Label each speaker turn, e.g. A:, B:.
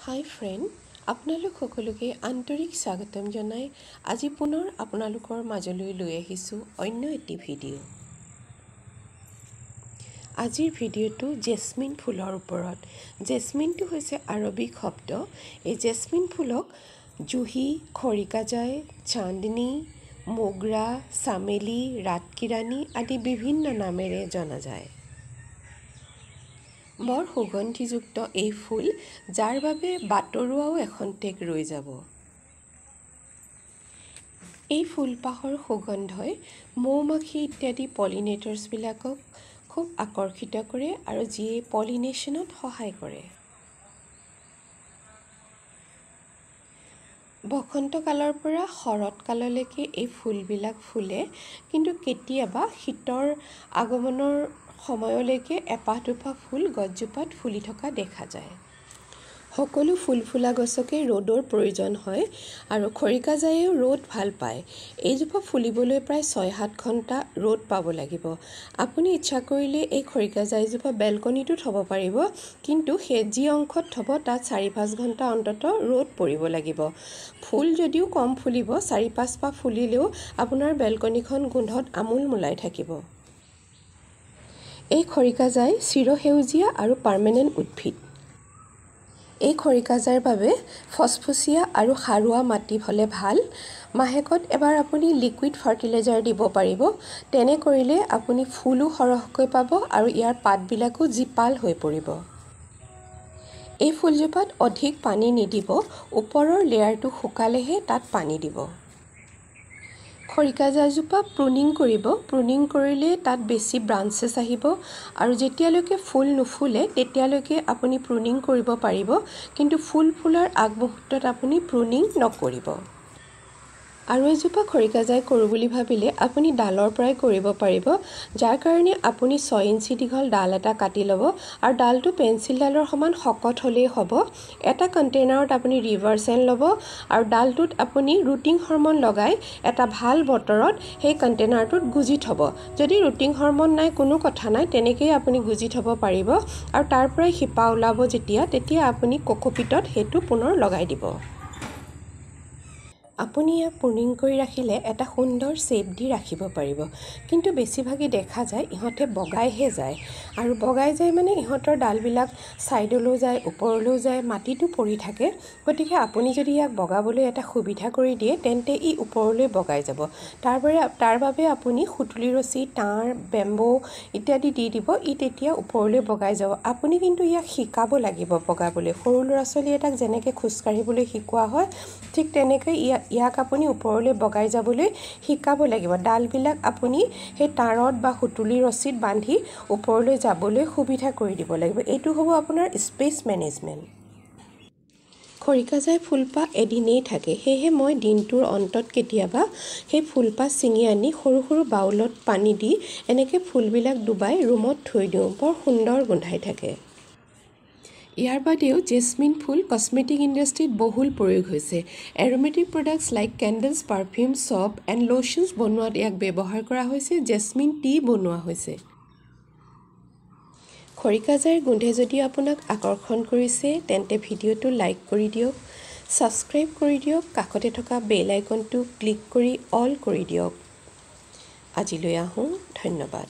A: হাই friend, আপোনালোক সকলোকে আন্তৰিক স্বাগতম জনাই আজি পুনৰ আপোনালোকৰ মাজলৈ লৈ আহিছোঁ অন্য এটি ভিডিঅ'। আজিৰ ভিডিঅ'টো জেচমিন ফুলৰ ওপৰত। জেচমিনটো হৈছে আৰবিক শব্দ। এই জেচমিন ফুলক জুহি, খৰিকাজাই, চান্দনী, মোগৰা, চামেলি, ৰাতকিৰাণী আদি বিভিন্ন নামেৰে জনা যায়। বৰ সুগন্ধিযুক্ত এই ফুল, যাৰ বাবে বাটৰুৱাও এখন্তেক ৰৈ যাব। এই ফুলপাহৰ সুগন্ধই মৌ-মাখি ইত্যাদি পলিনেটৰ্ছবিলাকক খুব আকৰ্ষিত কৰে আৰু যিয়ে পলিনেশ্যনত সহায় কৰে। বসন্তকালৰ পৰা শৰৎকাললৈকে এই ফুলবিলাক ফুলে, কিন্তু কেতিয়াবা শীতৰ আগমনৰ সময়লৈকে এপাহ দুপাহ ফুল গছজোপাত ফুলি থকা দেখা যায়। সকলো ফুল ফুলা গছকে ৰ'দৰ প্ৰয়োজন হয় আৰু খৰিকাজাইয়েও ৰ'দ ভাল পায়। এইজোপা ফুলিবলৈ প্ৰায় 6-7 ঘণ্টা ৰ'দ পাব লাগিব। আপুনি ইচ্ছা কৰিলে এই খৰিকাজাইজোপা বেলকনিতো থ'ব পাৰিব, কিন্তু সেই যি অংশত থ'ব তাত 4-5 ঘণ্টা অন্ততঃ ৰ'দ পৰিব লাগিব। ফুল যদিও কম ফুলিব, 4-5 পাহ ফুলিলেও আপোনাৰ বেলকনিখন গোন্ধত আমোল মোলাই থাকিব। এই খৰিকাজাই চিৰসেউজীয়া আৰু পাৰ্মানেণ্ট উদ্ভিদ। এই খৰিকাজাইৰ বাবে ফচফচীয়া আৰু সাৰুৱা মাটি হ'লে ভাল। মাহেকত এবাৰ আপুনি লিকুইড ফাৰ্টিলাইজাৰ দিব পাৰিব। তেনে কৰিলে আপুনি ফুলো সৰহকৈ পাব আৰু ইয়াৰ পাতবিলাকো জীপাল হৈ পৰিব। এই ফুলজোপাত অধিক পানী নিদিব, ওপৰৰ লেয়াৰটো শুকালেহে তাত পানী দিব। খৰিকাজাইজোপা প্ৰুনিং কৰিব। প্ৰুনিং কৰিলে তাত বেছি ব্ৰাঞ্চেছ আহিব আৰু যেতিয়ালৈকে ফুল নুফুলে তেতিয়ালৈকে আপুনি প্ৰুনিং কৰিব পাৰিব, কিন্তু ফুল ফুলাৰ আগমুহূৰ্তত আপুনি প্ৰুনিং নকৰিব। আৰু এজোপা খৰিকাজাই কৰোঁ বুলি ভাবিলে আপুনি ডালৰ পৰাই কৰিব পাৰিব, যাৰ কাৰণে আপুনি 6 ইঞ্চি দীঘল ডাল এটা কাটি ল'ব আৰু ডালটো পেঞ্চিলডালৰ সমান শকত হ'লেই হ'ব। এটা কণ্টেইনাৰত আপুনি ৰিভাৰ চেণ্ড ল'ব আৰু ডালটোত আপুনি ৰুটিং হৰমন লগাই এটা ভাল বতৰত সেই কণ্টেইনাৰটোত গুজি থ'ব। যদি ৰুটিং হৰমন নাই কোনো কথা নাই, তেনেকৈয়ে আপুনি গুজি থ'ব পাৰিব আৰু তাৰ পৰাই শিপা ওলাব যেতিয়া, তেতিয়া আপুনি কক'পিটত সেইটো পুনৰ লগাই দিব। আপুনি ইয়াক প্ৰুনিং কৰি ৰাখিলে এটা সুন্দৰ শ্বেপ দি ৰাখিব পাৰিব, কিন্তু বেছিভাগেই দেখা যায় ইহঁতে বগাইহে যায় আৰু বগাই যায় মানে ইহঁতৰ ডালবিলাক ছাইডলৈও যায়, ওপৰলৈও যায়, মাটিতো পৰি থাকে। গতিকে আপুনি যদি ইয়াক বগাবলৈ এটা সুবিধা কৰি দিয়ে তেন্তে ই ওপৰলৈ বগাই যাব। তাৰ বাবে আপুনি সুতুলি ৰছী, তাঁৰ, বেম্বো ইত্যাদি দি দিব, ই তেতিয়া ওপৰলৈ বগাই যাব। আপুনি কিন্তু ইয়াক শিকাব লাগিব বগাবলৈ। সৰু ল'ৰা ছোৱালী এটাক যেনেকৈ খোজকাঢ়িবলৈ শিকোৱা হয় ঠিক তেনেকৈ ইয়াক আপুনি ওপৰলৈ বগাই যাবলৈ শিকাব লাগিব। ডালবিলাক আপুনি সেই তাঁৰত বা সুতুলি ৰছীত বান্ধি ওপৰলৈ যাবলৈ সুবিধা কৰি দিব লাগিব। এইটো হ'ব আপোনাৰ স্পেচ মেনেজমেণ্ট। খৰিকাজাই ফুলপাহ এদিনেই থাকে, সেয়েহে মই দিনটোৰ অন্তত কেতিয়াবা সেই ফুলপাহ ছিঙি আনি সৰু সৰু বাউলত পানী দি এনেকৈ ফুলবিলাক ডুবাই ৰুমত থৈ দিওঁ, বৰ সুন্দৰ গোন্ধাই থাকে। ইয়াৰ বাদেও জেচমিন ফুল কছমেটিক ইণ্ডাষ্ট্ৰীত বহুল প্ৰয়োগ হৈছে। Aromatic products like candles, perfume, soap and lotions বনোৱাত ইয়াক ব্যৱহাৰ কৰা হৈছে। জেচমিন টি বনোৱা হৈছে। খৰিকাজাইৰ গোন্ধে যদি আপোনাক আকৰ্ষণ কৰিছে তেন্তে ভিডিঅ'টো লাইক কৰি দিয়ক, ছাবস্ক্ৰাইব কৰি দিয়ক, কাষতে থকা বেল আইকনটো ক্লিক কৰি অল কৰি দিয়ক। আজিলৈ আহোঁ, ধন্যবাদ।